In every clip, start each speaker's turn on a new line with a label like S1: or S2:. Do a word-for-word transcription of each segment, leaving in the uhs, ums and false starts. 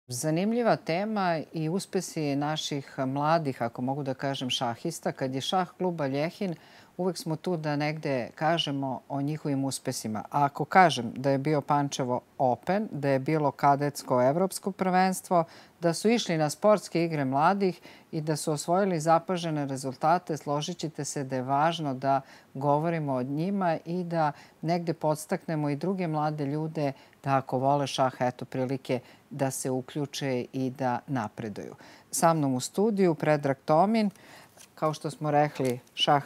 S1: Zanimljiva tema i uspesi naših mladih, ako mogu da kažem, šahista. Kad je šah kluba Ljehin, uvek smo tu da negde kažemo o njihovim uspesima. A ako kažem da je bio Pančevo Open, da je bilo kadetsko evropsko prvenstvo, da su išli na sportske igre mladih i da su osvojili zapažene rezultate, složit ćete se da je važno da govorimo o njima i da negde podstaknemo i druge mlade ljude da ako vole šah, eto prilike da se uključe i da napreduju. Sa mnom u studiju Predrag Tomin, kao što smo rekli, šah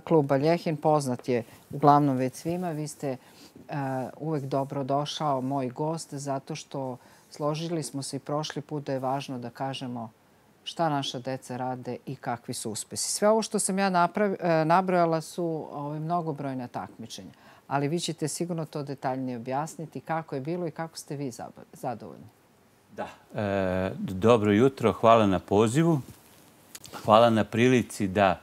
S1: kluba Ljehin, poznat je uglavnom već svima. Vi ste uvek dobro došao, moj gost, zato što složili smo se i prošli put da je važno da kažemo šta naša deca rade i kakvi su uspesi. Sve ovo što sam ja nabrojala su mnogobrojna takmičenja, ali vi ćete sigurno to detaljnije objasniti kako je bilo i kako ste vi zadovoljni.
S2: Da. Dobro jutro, hvala na pozivu. Hvala na prilici da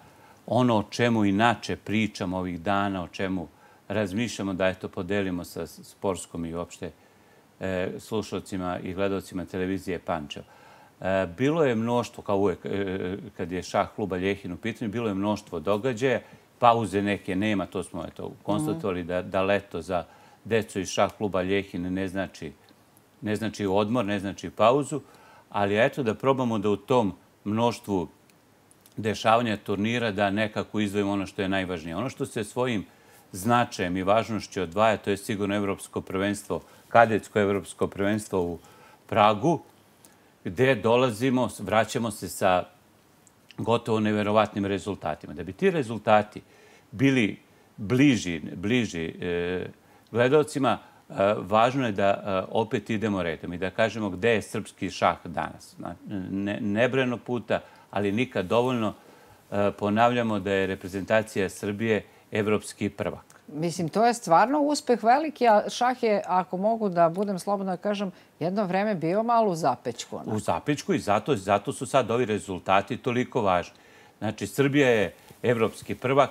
S2: ono o čemu inače pričamo ovih dana, o čemu razmišljamo, da eto podelimo sa sportskom i uopšte slušalcima i gledalcima televizije Pančevo. Bilo je mnoštvo, kao uvek kad je šah kluba Ljehin u pitanju, bilo je mnoštvo događaja, pauze neke nema, to smo konstatovali da leto za decu iz šah kluba Ljehin ne znači ne znači odmor, ne znači pauzu, ali eto da probamo da u tom mnoštvu dešavanja turnira da nekako izdvojimo ono što je najvažnije. Ono što se svojim značajem i važnošću odvaja, to je sigurno evropsko prvenstvo, kadetsko evropsko prvenstvo u Pragu, gde dolazimo, vraćamo se sa gotovo neverovatnim rezultatima. Da bi ti rezultati bili bliži, bliži gledalcima, važno je da opet idemo redom i da kažemo gde je srpski šah danas. Nebrojeno puta, ali nikad dovoljno ponavljamo da je reprezentacija Srbije evropski prvak.
S1: Mislim, to je stvarno uspeh veliki, a šah je, ako mogu da budem slobodno da kažem, jedno vreme bio malo u zapećku.
S2: U zapećku i zato su sad ovi rezultati toliko važni. Znači, Srbija je evropski prvak,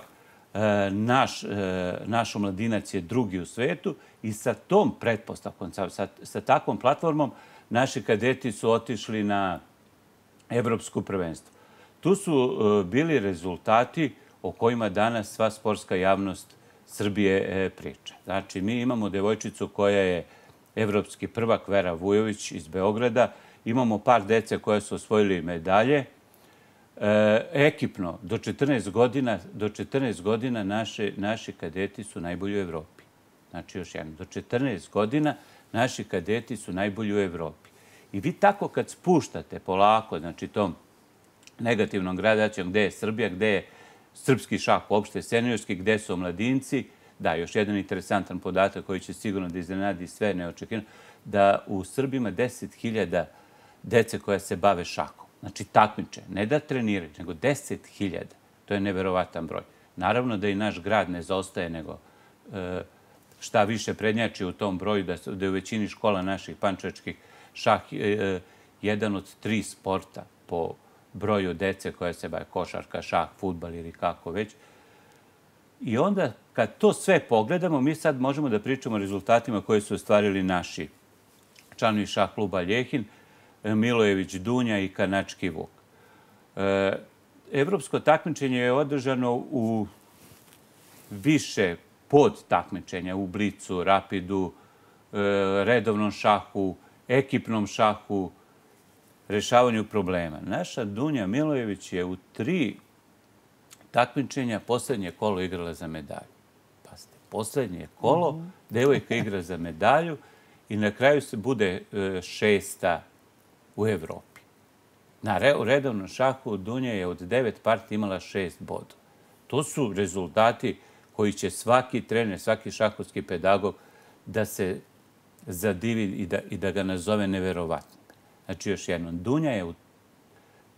S2: naš omladinac je drugi u svetu i sa tom pretpostavkom, sa takvom platformom, naši kadeti su otišli na evropsko prvenstvo. Tu su bili rezultati o kojima danas sva sportska javnost Srbije priča. Znači, mi imamo devojčicu koja je evropski prvak, Vera Vujović iz Beograda, imamo par dece koje su osvojili medalje. Ekipno, do četrnaest godina, do četrnaest godina naši kadeti su najbolji u Evropi. Znači, još jedno, do četrnaest godina naši kadeti su najbolji u Evropi. I vi tako kad spuštate polako, znači tom negativnom gradacijom gde je Srbija, gde je srpski šah uopšte seniorski, gde su omladinci, da, još jedan interesantan podatak koji će sigurno da iznenadi sve neočekivano, da u Srbiji ima deset hiljada dece koja se bave šahom. Znači, takmiče, ne da treniraju, nego deset hiljada. To je neverovatan broj. Naravno da i naš grad ne zaostaje, nego šta više prednjači u tom broju, da je u većini škola naših pančevačkih šah jedan od tri sporta po broju dece koja se bave košarka, šah, fudbal ili kako već. I onda, kad to sve pogledamo, mi sad možemo da pričamo o rezultatima koje su ostvarili naši članovi šah kluba Ljehin, Milojević Dunja i Kanački Vuk. Evropsko takmičenje je održano u više podtakmičenja, u blicu, rapidu, redovnom šahu, ekipnom šahu, rešavanju problema. Naša Dunja Milojević je u tri takmičenja poslednje kolo igrala za medalju. Pazite, poslednje kolo, devojka igra za medalju i na kraju se bude šesta u Evropi. Na redovnom šahu Dunja je od devet partija imala šest bodova. To su rezultati koji će svaki trener, svaki šahovski pedagog da se zadivi i da ga nazove neverovatno. Znači, još jednom, Dunja je u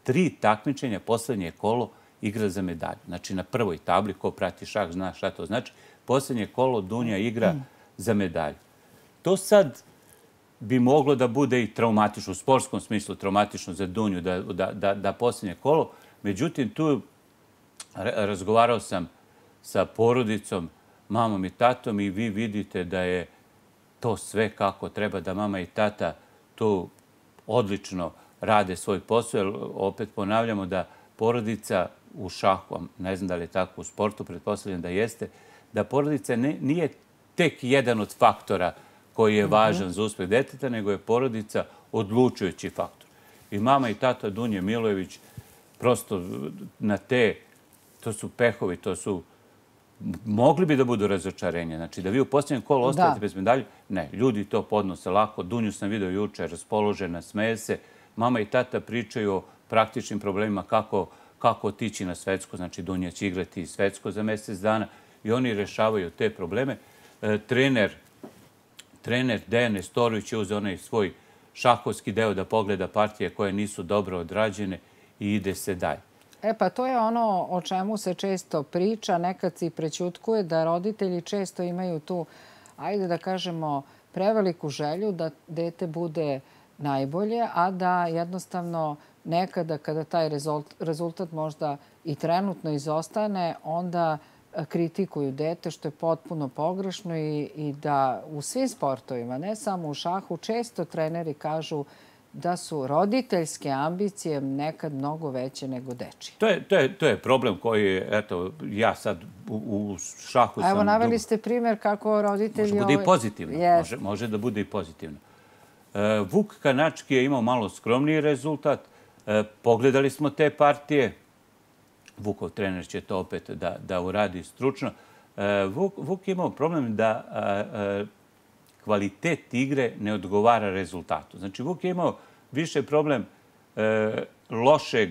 S2: tri takmičenja poslednje kolo igra za medalju. Znači, na prvoj tabli, ko prati šah zna šta to znači, poslednje kolo Dunja igra za medalju. To sad bi moglo da bude i traumatično, u sportskom smislu traumatično za Dunju, da poslednje kolo. Međutim, tu razgovarao sam sa porodicom, mamom i tatom i vi vidite da je to sve kako treba, da mama i tata tu odlično rade svoj posao, jer opet ponavljamo da porodica u šahu, ne znam da li je tako u sportu, pretpostavljam da jeste, da porodica nije tek jedan od faktora koji je važan za uspeh deteta, nego je porodica odlučujući faktor. I mama i tata Dunje Milojević prosto na te, to su pehovi, to su, mogli bi da budu razočarenje. Znači da vi u posljednjem kolu ostajete bez medalje, ne, ljudi to podnose lako. Dunju sam video juče, raspoložena, smeje se. Mama i tata pričaju o praktičnim problemima kako, kako otići na svetsko. Znači Dunja će igrati svetsko za mjesec dana i oni rešavaju te probleme. E, trener, trener Dejan Nestorović je uzeo onaj svoj šahovski deo da pogleda partije koje nisu dobro odrađene i ide se dalje.
S1: E pa to je ono o čemu se često priča, nekad se i prećutkuje da roditelji često imaju tu, ajde da kažemo, preveliku želju da dete bude najbolje, a da jednostavno nekada kada taj rezultat možda i trenutno izostane, onda kritikuju dete, što je potpuno pogrešno i, i da u svim sportovima, ne samo u šahu, često treneri kažu da su roditeljske ambicije nekad mnogo veće nego dečije.
S2: To je, to je, to je problem koji, eto, ja sad u, u šahu sam...
S1: Evo, naveli ste primjer kako roditelji...
S2: Može bude i pozitivno. Yes. Može, može da bude i pozitivno. E, Vuk Kanački je imao malo skromniji rezultat. E, pogledali smo te partije. Vukov trener će to opet da, da uradi stručno. E, Vuk, Vuk je imao problem da a, a, kvalitet igre ne odgovara rezultatu. Znači, Vuk je imao više problem e, lošeg,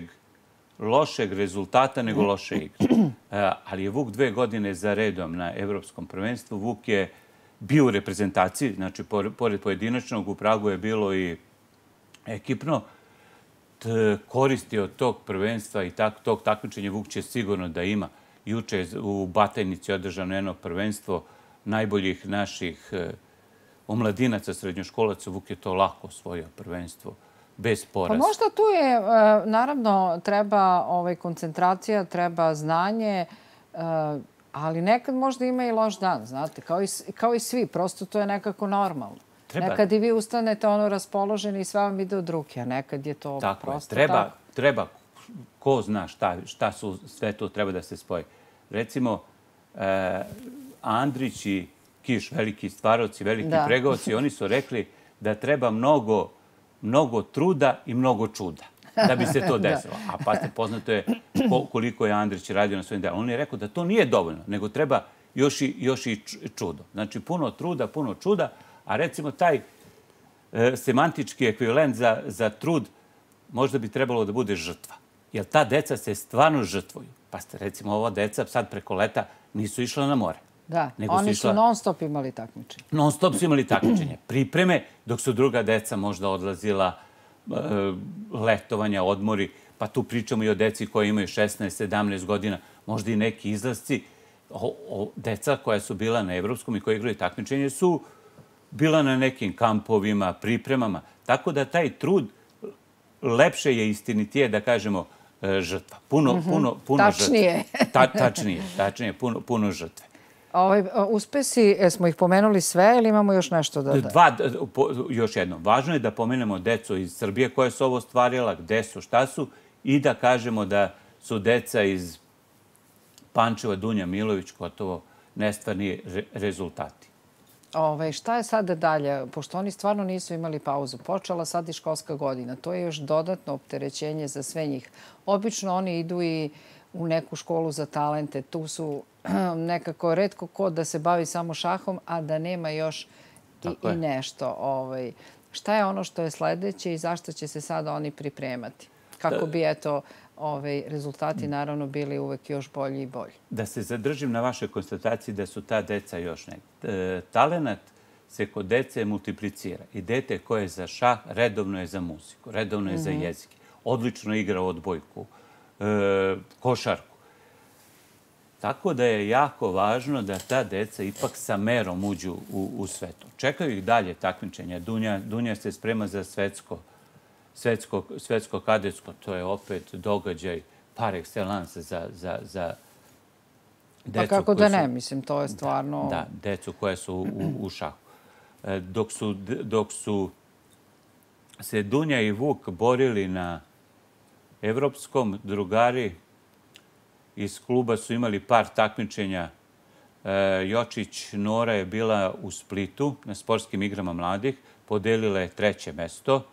S2: lošeg rezultata nego loše igre. E, ali je Vuk dve godine za redom na evropskom prvenstvu. Vuk je bio u reprezentaciji, znači, pored pojedinačnog u Pragu je bilo i ekipno. Koristio tog prvenstva i tak, tog takmičenja Vuk će sigurno da ima. Juče je u Batajnici održano jedno prvenstvo najboljih naših e, omladinaca, srednjoškolaca. Vuk je to lako osvojio prvenstvo, bez poraza.
S1: Pa možda tu je, e, naravno, treba ovaj, koncentracija, treba znanje, e, ali nekad možda ima i loš dan, znate, kao i, kao i svi. Prosto to je nekako normalno. Treba. Nekad i vi ustanete ono raspoloženi i sve vam ide od ruke, a nekad je to
S2: tako
S1: prosto
S2: je. Treba,
S1: tako.
S2: Treba, ko zna šta, šta su sve to treba da se spoji. Recimo, eh, Andrić i Kiš, veliki stvaroci, veliki da. pregovci, oni su rekli da treba mnogo, mnogo truda i mnogo čuda da bi se to desilo. A pa ste poznato je koliko je Andrić radio na svojim delom. On je rekao da to nije dovoljno, nego treba još i, još i čudo. Znači, puno truda, puno čuda. A recimo taj e, semantički ekvivalent za, za trud možda bi trebalo da bude žrtva. Jer ta deca se stvarno žrtvuju. Pa ste recimo ova deca sad preko leta nisu išla na more.
S1: Da,
S2: nego
S1: oni su,
S2: išla...
S1: su non stop imali takmičenje.
S2: Non stop su imali takmičenje. Pripreme, dok su druga deca možda odlazila e, letovanja, odmori. Pa tu pričamo i o deci koji imaju šesnaest sedamnaest godina. Možda i neki izlasci. O, o, deca koja su bila na evropskom i koji igraju takmičenje su bila na nekim kampovima, pripremama. Tako da taj trud lepše je istinitije, da kažemo, žrtva. Puno, mm-hmm. puno, puno
S1: tačnije.
S2: žrtve. Ta, tačnije. Tačnije, puno, puno žrtve.
S1: Ovaj, uspesi, smo ih pomenuli sve ili imamo još nešto da da?
S2: Dva, po, još jedno. Važno je da pomenemo decu iz Srbije koje su ovo ostvarila, gde su, šta su, i da kažemo da su deca iz Pančeva, Dunja Milović, gotovo nestvarni re, rezultati.
S1: Ove, šta je sada dalje? Pošto oni stvarno nisu imali pauzu. Počela sad i školska godina. To je još dodatno opterećenje za sve njih. Obično oni idu i u neku školu za talente. Tu su nekako retko ko da se bavi samo šahom, a da nema još i, i nešto. Ove, šta je ono što je sledeće i zašto će se sada oni pripremati? Kako bi, eto, Ove, rezultati naravno bili uvek još bolji i bolji.
S2: Da se zadržim na vašoj konstataciji da su ta deca još ne. E, talenat se kod dece multiplicira. I dete koje je za šah, redovno je za muziku, redovno je mm-hmm. za jezike. Odlično igra odbojku, e, košarku. Tako da je jako važno da ta deca ipak sa merom uđu u, u svetu. Čekaju ih dalje takmičenja. Dunja, Dunja se sprema za svetsko Svetsko, svetsko kadetsko, to je opet događaj par excellence za, za, za decu.
S1: Pa kako da ne, su, mislim, to je stvarno...
S2: Da, da, decu koje su u, u šahu. Dok su, dok su se Dunja i Vuk borili na evropskom, drugari iz kluba su imali par takmičenja. Jočić Nora je bila u Splitu na sportskim igrama mladih, podelila je treće mesto.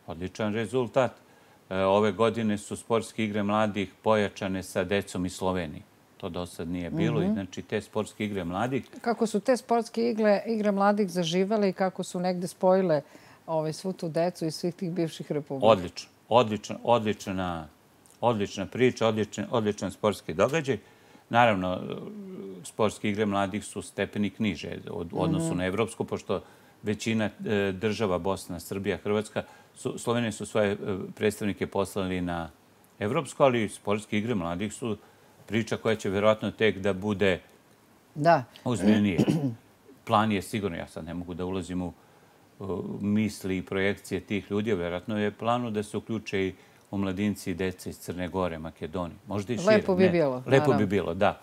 S2: Odličan rezultat. Ove godine su sportske igre mladih pojačane sa decom iz Slovenije. To do sad nije bilo. I znači te sportske igre mladih...
S1: Kako su te sportske igre, igre mladih zaživale i kako su negde spojile ovaj, svu tu decu iz svih tih bivših republika?
S2: Odlično. Odlična, odlična, odlična priča, odličan, odličan sportski događaj. Naravno, sportske igre mladih su stepenik niže od odnosu mm-hmm. na evropsku, pošto većina e, država, Bosna, Srbija, Hrvatska, su, Slovenije su svoje predstavnike poslali na evropsku, ali sportske igre mladih su priča koja će vjerojatno tek da bude
S1: da.
S2: ozbiljnije. Plan je sigurno, ja sad ne mogu da ulazim u misli i projekcije tih ljudi, vjerojatno je planu da se uključe i omladinci i deca iz Crne Gore, Makedonije. Možda i šire.
S1: Lepo bi bilo.
S2: Lepo bi bilo, da.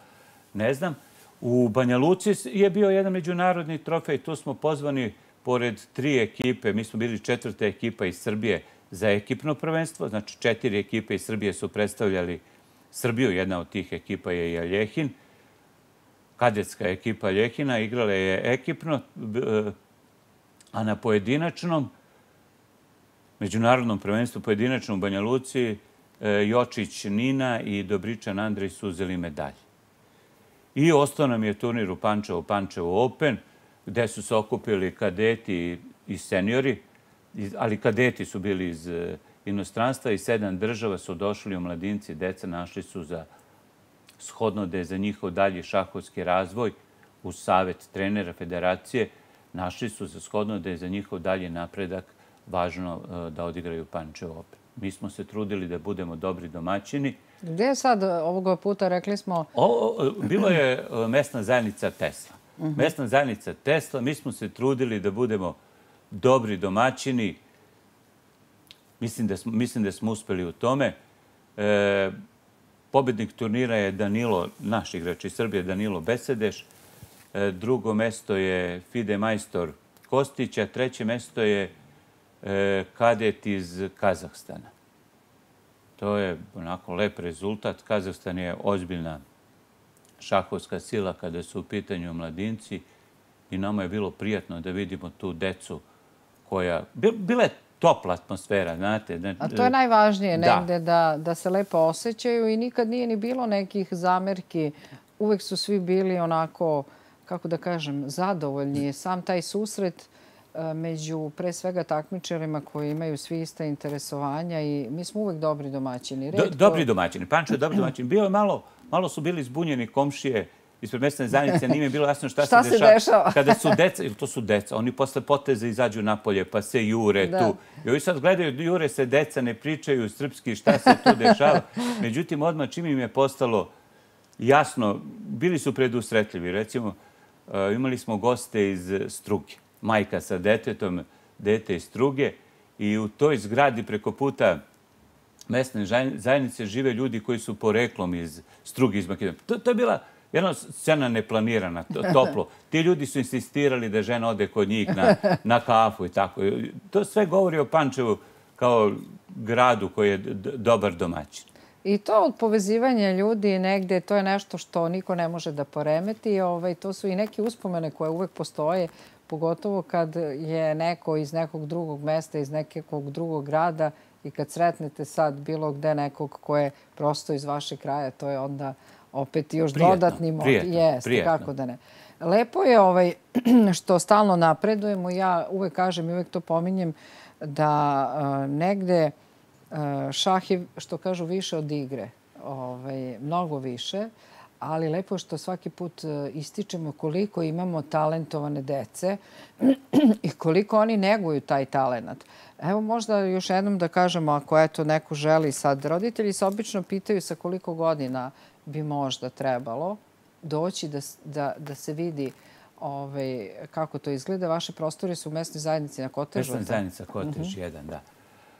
S2: Ne znam. U Banja Luci je bio jedan međunarodni trofej. Tu smo pozvani pored tri ekipe. Mi smo bili četvrta ekipa iz Srbije za ekipno prvenstvo. Znači, četiri ekipe iz Srbije su predstavljali Srbiju. Jedna od tih ekipa je i Aljechin. Kadetska ekipa Aljehina igrala je ekipno, a na pojedinačnom međunarodnom prvenstvu pojedinačnom u Banja Luci Jočić Nina i Dobričan Andrej su uzeli medalje. I ostao nam je turnir u Pančevu, Pančevo Open, gde su se okupili kadeti i seniori, ali kadeti su bili iz inostranstva i sedam država su došli, omladinci, deca našli su za shodno da je za njihov dalji šahovski razvoj uz savjet trenera federacije, našli su za shodno da je za njihov dalji napredak važno da odigraju Pančevo Open. Mi smo se trudili da budemo dobri domaćini.
S1: Gdje je sad ovoga puta, rekli smo...
S2: Ovo, bilo je mesna zajednica Tesla. Uh-huh. Mesna zajednica Tesla, mi smo se trudili da budemo dobri domaćini. Mislim da smo, mislim da smo uspeli u tome. E, pobednik turnira je Danilo, naš igrač iz Srbije, Danilo Besedeš. E, drugo mesto je Fide Majstor Kostić, a treće mesto je e, kadet iz Kazahstana. To je onako lep rezultat. Kazahstan je ozbiljna šahovska sila kada su u pitanju mladinci i nama je bilo prijatno da vidimo tu decu koja... Bila je topla atmosfera, znate.
S1: A to je najvažnije negde, da, da se lepo osjećaju i nikad nije ni bilo nekih zamerki. Uvek su svi bili onako, kako da kažem, zadovoljni. Sam taj susret među pre svega takmičarima koji imaju svi ista interesovanja i mi smo uvek dobri domaćini.
S2: Do, dobri domaćini. Pančo je dobri domaćini. Bio je malo, malo su bili zbunjeni komšije ispred mesne zajednice. Nije mi bilo jasno šta,
S1: šta
S2: se,
S1: se
S2: dešava.
S1: dešava.
S2: Kada su deca, to su deca, oni posle poteze izađu napolje pa se jure da. tu. I ovi sad gledaju, jure se deca, ne pričaju srpski šta se tu dešava. Međutim, odmah čim im je postalo jasno, bili su predusretljivi. Recimo, imali smo goste iz Struge. Majka sa detetom, dete iz Struge i u toj zgradi preko puta mesne zajednice žive ljudi koji su poreklom iz Struge, iz Makedonije. To, to je bila jedna scena neplanirana, to, toplo. Ti ljudi su insistirali da žena ode kod njih na, na kafu i tako. To sve govori o Pančevu kao gradu koji je dobar domaćin.
S1: I to od povezivanja ljudi negde, to je nešto što niko ne može da poremeti. Ovaj, to su i neke uspomene koje uvek postoje, pogotovo kad je neko iz nekog drugog mesta, iz nekog drugog grada i kad sretnete sad bilo gde nekog ko je prosto iz vašeg kraja, to je onda opet još
S2: prijetno,
S1: dodatni mod.
S2: Prijetno,
S1: Jeste,
S2: prijetno.
S1: kako da ne. Lepo je ovaj, što stalno napredujemo. Ja uvek kažem i uvek to pominjem da uh, negde uh, šah je, što kažu, više od igre. Ovaj, mnogo više. Ali lepo je što svaki put ističemo koliko imamo talentovane dece i koliko oni neguju taj talenat. Evo možda još jednom da kažemo, ako eto neko želi sad, roditelji se obično pitaju sa koliko godina bi možda trebalo doći da, da, da se vidi ovaj, kako to izgleda. Vaše prostore su u mesnoj zajednici na Kotežu.
S2: Mesna zajednica Kotež jedan, da.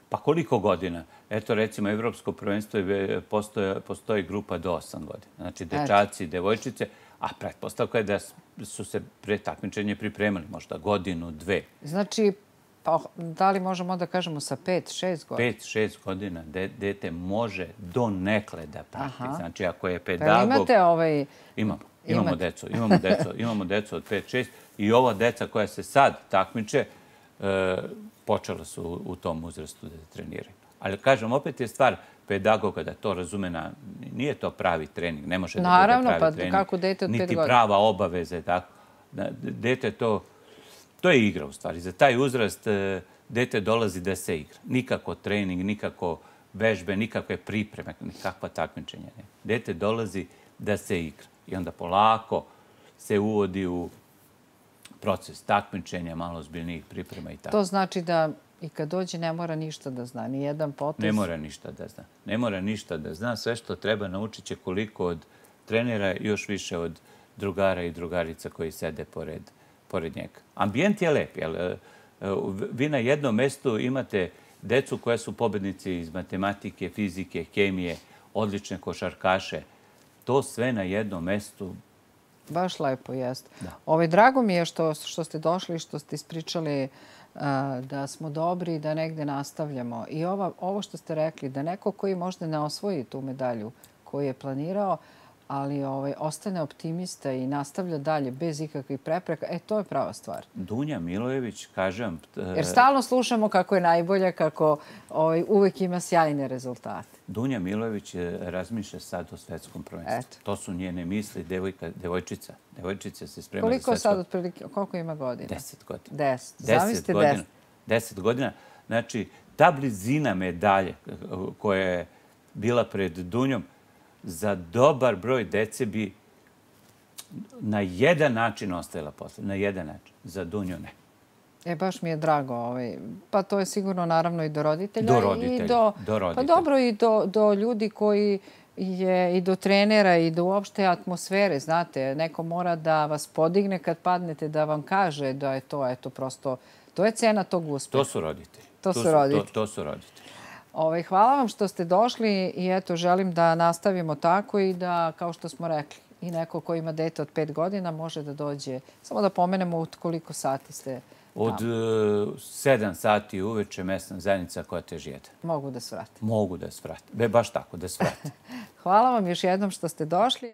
S2: Pa koliko godina? Eto, recimo, Evropsko prvenstvo postoji, postoji grupa do osam godina. Znači, dečaci, devojčice, a pretpostavka je da su se pre takmičenja pripremali možda godinu, dve.
S1: Znači, Pa da li možemo da kažemo sa pet, šest godina?
S2: Pet, šest godina dete može do nekle da prati. Znači, ako je
S1: Pa
S2: pedagog...
S1: imate ovaj...
S2: Imamo. Imamo decu. Imamo decu. Imamo decu od pet, šest. I ova deca koja se sad takmiče, počela su u tom uzrastu da treniraju. Ali, kažem, opet je stvar pedagoga da to razume na... Nije to pravi trening. Ne može da bude pravi trening.
S1: Naravno, pa kako dete od pet godina?
S2: Niti prava obaveza. Dete to... To je igra, u stvari. Za taj uzrast dete dolazi da se igra. Nikako trening, nikako vežbe, nikakve pripreme, nikakva takmičenja. Dete dolazi da se igra. I onda polako se uvodi u proces takmičenja, malo ozbiljnijih priprema i tako.
S1: To znači da i kad dođe ne mora ništa da zna, ni jedan potez?
S2: Ne mora ništa da zna. Ne mora ništa da zna. Sve što treba naučit će koliko od trenera, još više od drugara i drugarica koji sede pored pored njega. Ambijent je lep. Vi na jednom mestu imate decu koja su pobednici iz matematike, fizike, hemije, odlične košarkaše. To sve na jednom mestu.
S1: Baš lepo, jeste. Drago mi je što ste došli i što ste ispričali da smo dobri i da negde nastavljamo. I ovo što ste rekli, da neko koji možda ne osvoji tu medalju koju je planirao, ali ostane optimista i nastavlja dalje bez ikakvih prepreka, e, to je prava stvar.
S2: Dunja Milojević, kažem...
S1: Jer stalno slušamo kako je najbolja, kako uvek ima sjajne rezultate.
S2: Dunja Milojević razmišlja sad o svetskom prvenstvu. To su njene misli, devojčica. Devojčica se sprema za svetskom...
S1: Koliko sad otprilike, koliko ima godina?
S2: Deset godina.
S1: Deset. Zamislite deset.
S2: Deset godina. Znači, ta blizina medalje koja je bila pred Dunjom, za dobar broj dece bi na jedan način ostajala posle. Na jedan način. Za Dunju ne.
S1: E, baš mi je drago. Pa to je sigurno naravno i do roditelja.
S2: Do roditelja. Do roditelja.
S1: Pa dobro i do ljudi koji je i do trenera i do uopšte atmosfere. Znate, neko mora da vas podigne kad padnete, da vam kaže da je to, eto, prosto, to je cena tog uspeha.
S2: To su roditelji.
S1: To su roditelji.
S2: To su roditelji.
S1: Hvala vam što ste došli i eto, želim da nastavimo tako i da, kao što smo rekli, i neko ko ima dete od pet godina može da dođe. Samo da pomenemo od koliko sati ste tamo.
S2: Od sedam sati uveče mesna zajednica koja teži jedan.
S1: Mogu da svrate.
S2: Mogu da svrate. Baš tako, da svrate.
S1: Hvala vam još jednom što ste došli.